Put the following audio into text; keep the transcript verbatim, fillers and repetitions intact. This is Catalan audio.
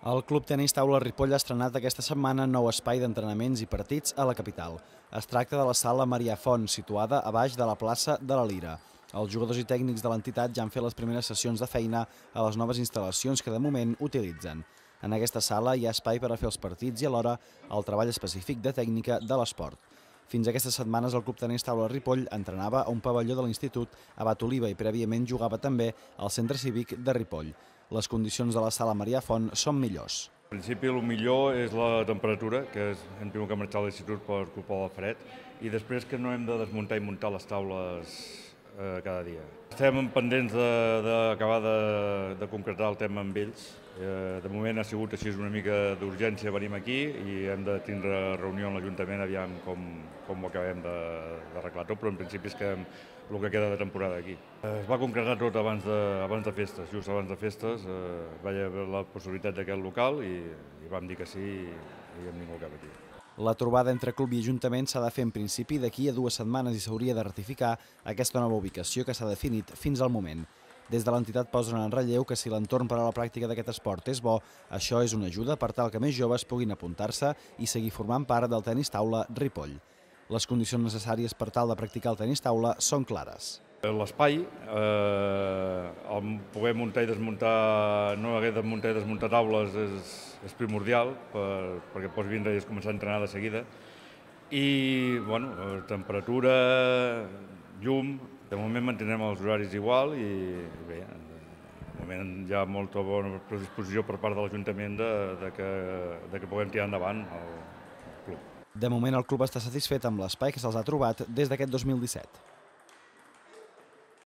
El Club Tenis Taula Ripoll ha estrenat aquesta setmana nou espai d'entrenaments i partits a la capital. Es tracta de la sala Marià Font, situada a baix de la plaça de la Lira. Els jugadors i tècnics de l'entitat ja han fet les primeres sessions de feina a les noves instal·lacions que de moment utilitzen. En aquesta sala hi ha espai per a fer els partits i alhora el treball específic de tècnica de l'esport. Fins aquestes setmanes el Club Tenis Taula Ripoll entrenava a un pavelló de l'Institut Abat Oliva i prèviament jugava també al Centre Cívic de Ripoll. Les condicions de la sala Marià Font són millors. En principi el millor és la temperatura, que és, hem tingut que marxar a l'institut per culpa del fred, i després que no hem de desmuntar i muntar les taules eh, cada dia. Estem pendents d'acabar de, de, de concretar el tema amb ells. Eh, de moment ha sigut així una mica d'urgència, venim aquí i hem de tindre reunió amb l'Ajuntament aviam com, com ho acabem d'arreglar tot, però en principi és que el que queda de temporada aquí. Eh, es va concretar tot abans de, abans de festes, just abans de festes eh, va haver la possibilitat d'aquest local i, i vam dir que sí i, i hem vingut cap aquí. La trobada entre club i ajuntament s'ha de fer en principi d'aquí a dues setmanes i s'hauria de ratificar aquesta nova ubicació que s'ha definit fins al moment. Des de l'entitat posen en relleu que si l'entorn per a la pràctica d'aquest esport és bo, això és una ajuda per tal que més joves puguin apuntar-se i seguir formant part del tenis taula Ripoll. Les condicions necessàries per tal de practicar el tenis taula són clares. L'espai, eh, el poder muntar i desmuntar, no haver de muntar i desmuntar taules és, és primordial per, perquè pots vindre i començar a entrenar de seguida. I, bueno, temperatura, llum, de moment mantindrem els horaris igual i bé, de moment hi ha molta bona predisposició per part de l'Ajuntament de, de, que, de que puguem tirar endavant el club. De moment el club està satisfet amb l'espai que se'ls ha trobat des d'aquest dos mil disset.